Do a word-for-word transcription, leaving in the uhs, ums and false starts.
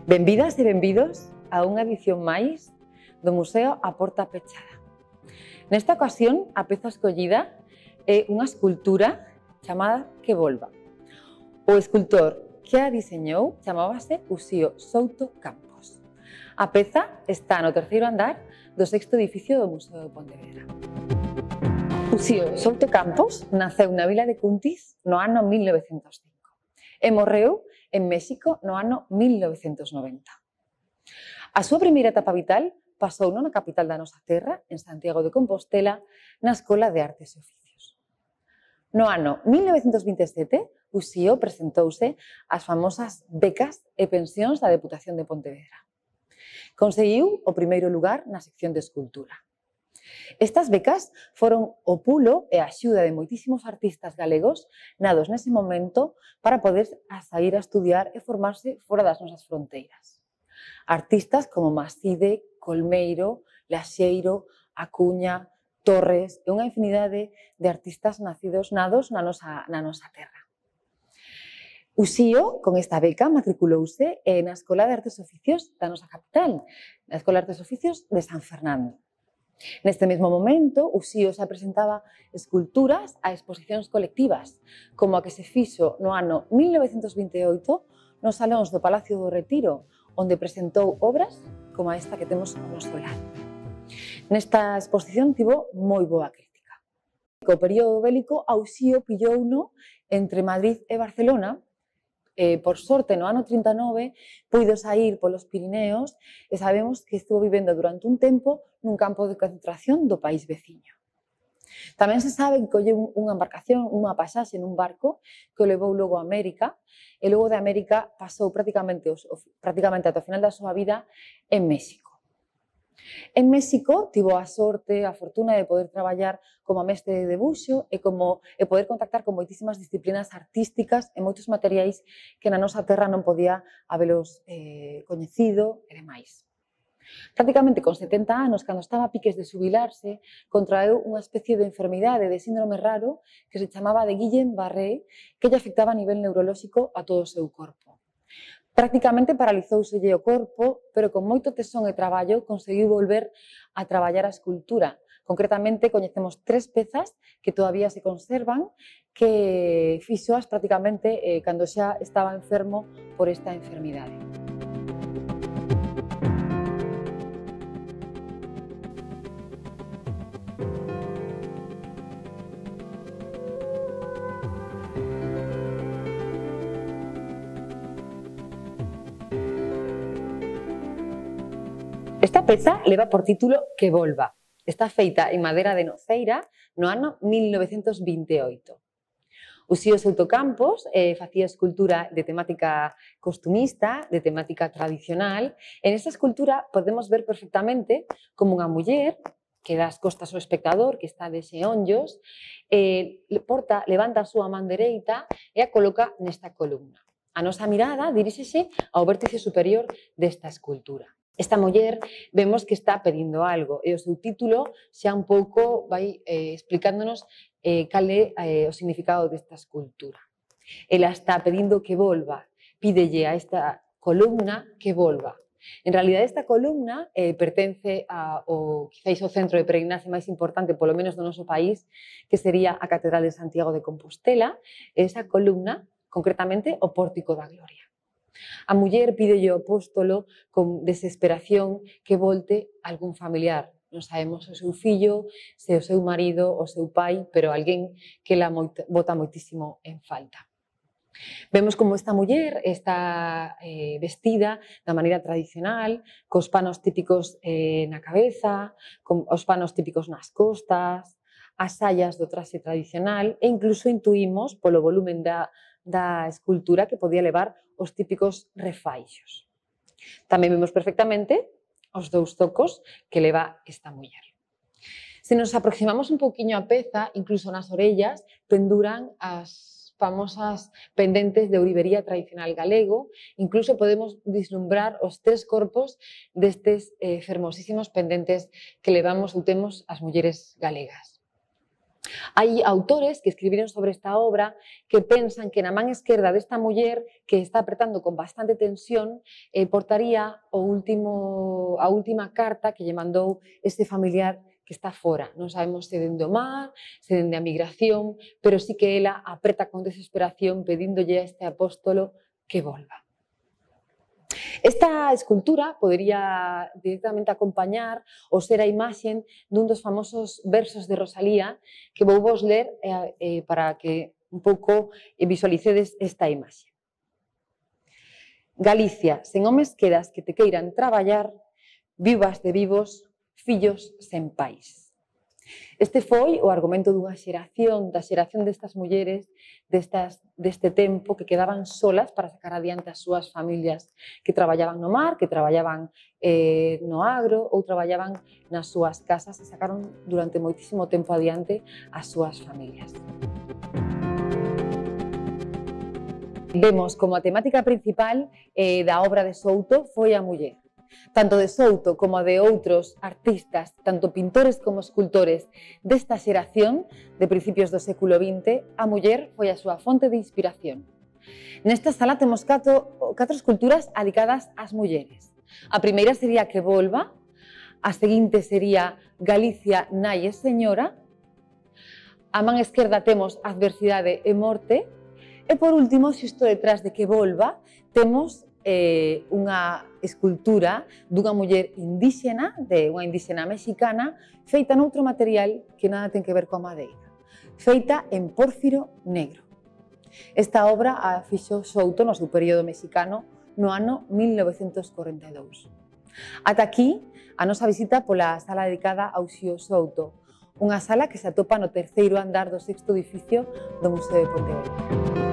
Benvidas e benvidos a unha edición máis do Museo A Porta Pechada. Nesta ocasión, a peza escollida é unha escultura chamada Que Volva. O escultor que a diseñou chamábase Uxío Souto Campos. A peza está no terceiro andar do sexto edificio do Museo de Pontevedra. Uxío Souto Campos naceu na vila de Cuntis no ano mil novecentos cinco e morreu en México no ano mil novecentos noventa. A súa primeira etapa vital pasou na capital da nosa terra, en Santiago de Compostela, na Escola de Artes e Oficios. No ano mil novecentos vinte e sete, Uxío presentouse ás famosas becas e pensións da Deputación de Pontevedra. Conseguiu o primeiro lugar na sección de escultura. Estas becas foron o pulo e a axuda de moitísimos artistas galegos nados nese momento para poder sair a estudiar e formarse fora das nosas fronteiras. Artistas como Maside, Colmeiro, Laxeiro, Acuña, Torres e unha infinidade de artistas nacidos nados na nosa, na nosa terra. Uxío, con esta beca, matriculouse na Escola de Artes e Oficios da nosa capital, na Escola de Artes e Oficios de San Fernando. Neste mesmo momento, Uxío xa presentaba esculturas a exposicións colectivas, como a que se fixo no ano mil novecentos vinte e oito nos salóns do Palacio do Retiro, onde presentou obras como esta que temos ao noso lado. Nesta exposición tivo moi boa crítica. Co período bélico, a Uxío pillouno entre Madrid e Barcelona. Eh, por sorte, no ano trinta e nove, puido sair polos Pirineos e sabemos que estuvo vivendo durante un tempo nun campo de concentración do país veciño. Tamén se sabe que colleu unha embarcación, unha pasaxe nun barco que o levou logo a América e logo de América pasou prácticamente, prácticamente ata o final da súa vida en México. En México tivo a sorte, a fortuna de poder traballar como mestre de debuxo e, como, e poder contactar con moitísimas disciplinas artísticas e moitos materiais que na nosa terra non podía habelos eh, coñecido e demais. Prácticamente con setenta anos, cando estaba a piques de xubilarse, contraeu unha especie de enfermidade, de síndrome raro, que se chamaba de Guillain-Barré, que lle afectaba a nivel neurolóxico a todo o seu corpo. Prácticamente paralizouselle o corpo, pero con moito tesón e traballo conseguiu volver a traballar a escultura. Concretamente, coñecemos tres pezas que todavía se conservan, que fixoas prácticamente eh, cando xa estaba enfermo por esta enfermidade. Esta peza leva por título Que Volva. Está feita en madeira de noceira no ano mil novecentos vinte e oito. Uxío Souto Campos eh, facía escultura de temática costumista, de temática tradicional. En esta escultura podemos ver perfectamente como unha muller que dá as costas ao espectador, que está de xeonllos, eh, porta, levanta a súa man dereita e a coloca nesta columna. A nosa mirada diríxese ao vértice superior desta escultura. Esta muller vemos que está pedindo algo e o seu título xa un pouco vai eh, explicándonos eh, cal é eh, o significado desta escultura. Ela está pedindo que volva, pídelle a esta columna que volva. En realidad, esta columna eh, pertence ao, quizáis, ao centro de peregrinaxe máis importante, polo menos do noso país, que sería a Catedral de Santiago de Compostela, e esa columna, concretamente, o Pórtico da Gloria. A muller pídelle ao apóstolo con desesperación que volte algún familiar. Non sabemos o seu fillo, se o seu marido, o seu pai, pero alguén que la bota moitísimo en falta. Vemos como esta muller está eh, vestida da maneira tradicional, cos panos típicos eh, na cabeza, con os panos típicos nas costas, as saias do traxe tradicional e incluso intuímos polo volumen da da escultura que podía levar os típicos refaixos. Tamén vemos perfectamente os dous tocos que leva esta muller. Se nos aproximamos un pouquiño á peza, incluso nas orellas, penduran as famosas pendentes de ourivería tradicional galego, incluso podemos vislumbrar os tres corpos destes eh, fermosísimos pendentes que levamos ou temos as mulleres galegas. Hai autores que escribiron sobre esta obra que pensan que na man esquerda desta muller que está apretando con bastante tensión eh, portaría o último, a última carta que lle mandou este familiar que está fora. Non sabemos se dende o mar, se dende a migración, pero sí que ela apreta con desesperación pedíndolle a este apóstolo que volva. Esta escultura podería directamente acompañar ou ser a imaxen dun dos famosos versos de Rosalía que vou vos ler eh, eh, para que un pouco visualicedes esta imaxe. Galicia, sen homes quedas que te queiran traballar, vivas de vivos, fillos sen pais. Este foi o argumento dunha xeración, da xeración destas mulleres destas, deste tempo que quedaban solas para sacar adiante as súas familias, que traballaban no mar, que traballaban eh, no agro ou traballaban nas súas casas e sacaron durante moitísimo tempo adiante as súas familias. Vemos como a temática principal eh, da obra de Souto foi a muller. Tanto de Souto como de outros artistas, tanto pintores como escultores desta xeración de principios do século vinte, a muller foi a súa fonte de inspiración. Nesta sala temos catro, catro esculturas dedicadas ás mulleres. A primeira sería Que volva, a seguinte sería Galicia, nai e señora, a man esquerda temos Adversidade e morte, e por último, xusto detrás de Que volva, temos eh, unha escultura dunha muller indíxena, de unha indíxena mexicana, feita noutro material que nada ten que ver coa madeira, feita en pórfiro negro. Esta obra a fixo Souto no seu período mexicano no ano mil novecentos corenta e dous. Ata aquí a nosa visita pola sala dedicada ao Uxío Souto, unha sala que se atopa no terceiro andar do sexto edificio do Museo de Pontevedra.